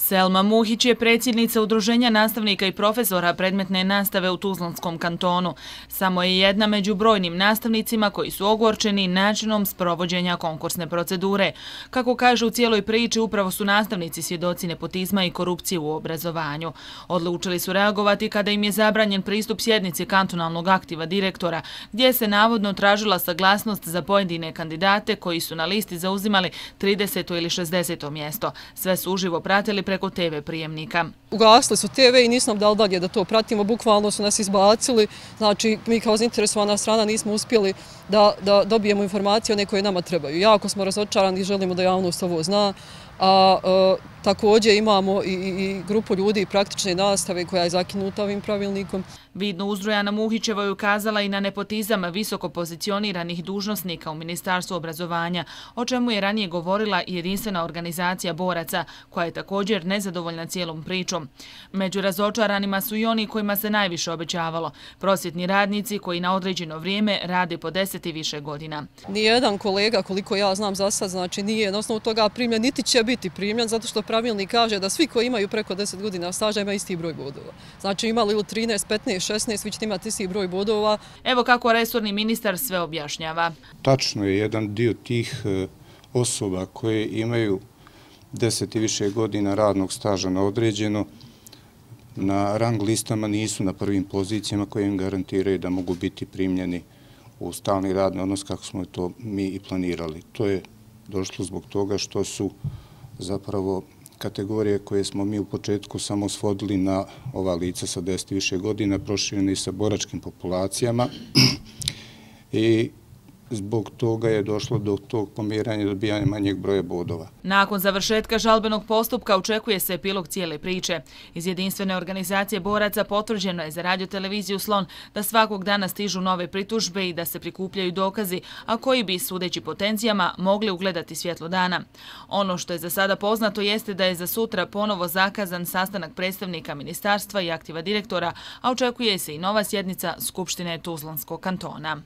Selma Muhić je predsjednica Udruženja nastavnika i profesora predmetne nastave u Tuzlanskom kantonu. Samo je jedna među brojnim nastavnicima koji su ogorčeni načinom sprovođenja konkursne procedure. Kako kaže u cijeloj priči, upravo su nastavnici svjedoci nepotizma i korupcije u obrazovanju. Odlučili su reagovati kada im je zabranjen pristup sjednici kantonalnog aktiva direktora, gdje se navodno tražila saglasnost za pojedine kandidate koji su na listi zauzimali 30. ili 60. mjesto. Sve su uživo pratili preko TV prijemnika. Ugasili su TV i nismo dali dalje da to pratimo, bukvalno su nas izbacili. Znači, mi kao zainteresovana strana nismo uspjeli da dobijemo informacije one koje nama trebaju. Jako smo razočarani i želimo da javnost ovo zna. Također imamo i grupu ljudi praktične nastave koja je zakinuta ovim pravilnikom. Vidno Uzdrojana Muhićeva je ukazala i na nepotizam visoko pozicioniranih dužnosnika u Ministarstvu obrazovanja, o čemu je ranije govorila i jedinstvena organizacija boraca, koja je također nezadovoljna cijelom pričom. Među razočaranima su i oni kojima se najviše obećavalo, prosvjetni radnici koji na određeno vrijeme rade po 10 i više godina. Nijedan kolega, koliko ja znam za sad, znači nije na osnovu toga primljen, niti će biti primljen, zato što pravilnik kaže da svi koji imaju preko 10 godina staža imaju isti broj bodova. Znači imali li 13, 15, 16, vi ćete imati isti broj bodova. Evo kako resorni ministar sve objašnjava. Tačno je, jedan dio tih osoba koje imaju 10 i više godina radnog staža na određeno, na rang listama nisu na prvim pozicijama koje im garantiraju da mogu biti primljeni u stalni radni odnos kako smo to mi i planirali. To je došlo zbog toga što su zapravo kategorije koje smo mi u početku samo svodili na ova lica sa 10 i više godina, prošireni sa boračkim populacijama i zbog toga je došlo do tog pomjeranja i dobijanja manjeg broja bodova. Nakon završetka žalbenog postupka očekuje se epilog cijele priče. Iz jedinstvene organizacije boraca potvrđeno je za radioteleviziju Slon da svakog dana stižu nove pritužbe i da se prikupljaju dokazi, a koji bi, sudeći po tenzijama, mogli ugledati svjetlo dana. Ono što je za sada poznato jeste da je za sutra ponovo zakazan sastanak predstavnika ministarstva i aktiva direktora, a očekuje se i nova sjednica Skupštine Tuzlanskog kantona.